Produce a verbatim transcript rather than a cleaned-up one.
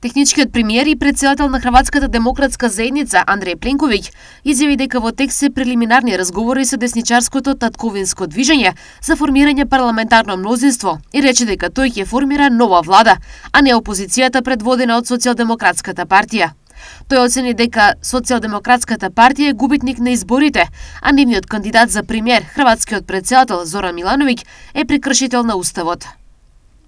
Техничкиот премиер и претседател на Хрватската демократска заедница Андреј Пленковиќ изјави дека во текст се прелиминарни разговори со десничарското татковинско движење за формирање парламентарно мнозинство и рече дека тој ќе формира нова влада, а не опозицијата предводена од Социјалдемократската партија. Тој оцени дека Социјалдемократската партија е губитник на изборите, а нивниот кандидат за премиер, хрватскиот претседател Зоран Милановиќ, е прекршител на уставот.